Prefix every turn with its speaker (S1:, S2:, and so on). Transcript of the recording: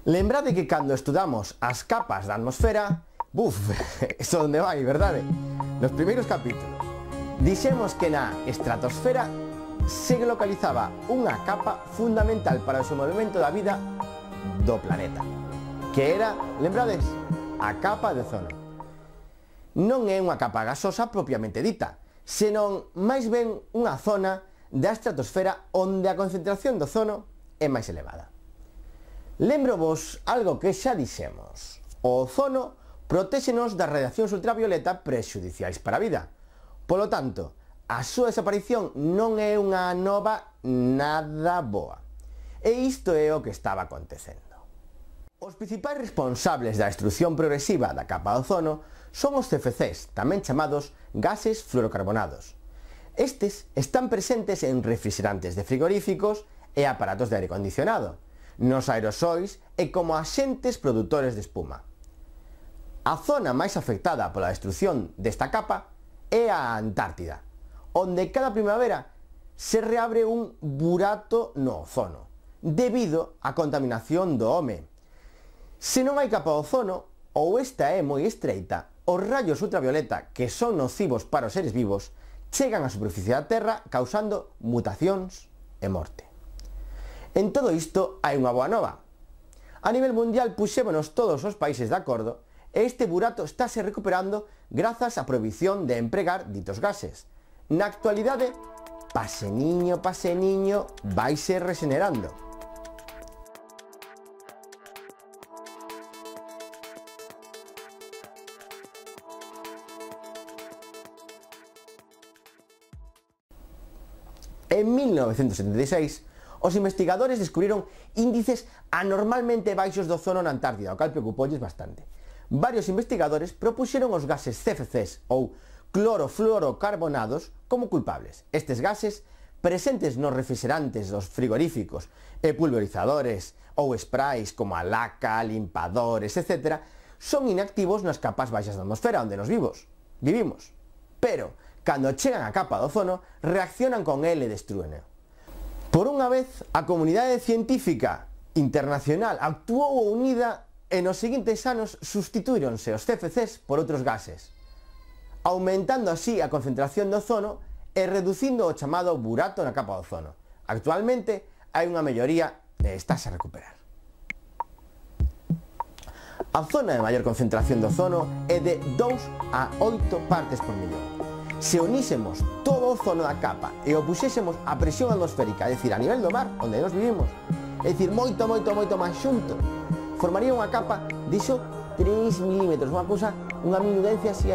S1: Lembrade que cando estudamos as capas da atmosfera, isto onde vai, verdade? Nos primeiros capítulos dixemos que na estratosfera se localizaba unha capa fundamental para o desenvolvemento da vida do planeta, que era, lembrades, a capa de ozono. Non é unha capa gasosa propiamente dita, senón máis ben unha zona da estratosfera onde a concentración de ozono é máis elevada. Lembro-vos algo que xa dixemos: o ozono protéxenos das radiacións ultravioleta prexudiciais para a vida. Polo tanto, a súa desaparición non é unha nova nada boa. E isto é o que estaba acontecendo. Os principais responsables da destrucción progresiva da capa de ozono son os CFCs, tamén chamados gases fluorocarbonados. Estes están presentes en refrigerantes de frigoríficos e aparatos de aire acondicionado, nos aerosois e como axentes produtores de espuma. A zona máis afectada pola destrucción desta capa é a Antártida, onde cada primavera se reabre un burato no ozono, debido á contaminación do home. Se non hai capa de ozono, ou esta é moi estreita, os rayos ultravioleta, que son nocivos para os seres vivos, chegan á superficie da Terra causando mutacións e morte. En todo isto hai unha boa nova. A nivel mundial puxémonos todos os países de acordo e este burato estáse recuperando grazas á prohibición de empregar ditos gases. Na actualidade, paseniño, vaise regenerando. En 1976, os investigadores descubriron índices anormalmente baixos do ozono na Antártida, o cal preocupolles bastante. Varios investigadores propuxeron os gases CFCs ou clorofluorocarbonados como culpables. Estes gases, presentes nos refrigerantes dos frigoríficos e pulverizadores ou sprays como a laca, limpadores, etc., son inactivos nas capas baixas da atmosfera onde nos vivimos. Pero, cando chegan á capa do ozono, reaccionan con el e destrúeno. Por unha vez, a comunidade científica internacional actuou unida e nos seguintes anos substituíronse os CFCs por outros gases, aumentando así a concentración de ozono e reducindo o chamado burato na capa de ozono. Actualmente hai unha melloría e estáse a recuperar. A zona de maior concentración de ozono é de 2 a 8 partes por millón. Se unísemos todo o ozono da capa e o puxésemos a presión atmosférica, é dicir, a nivel do mar, onde nos vivimos, é dicir, moito máis xunto, formaría unha capa de iso 3 milímetros, unha cousa, unha minudencia así.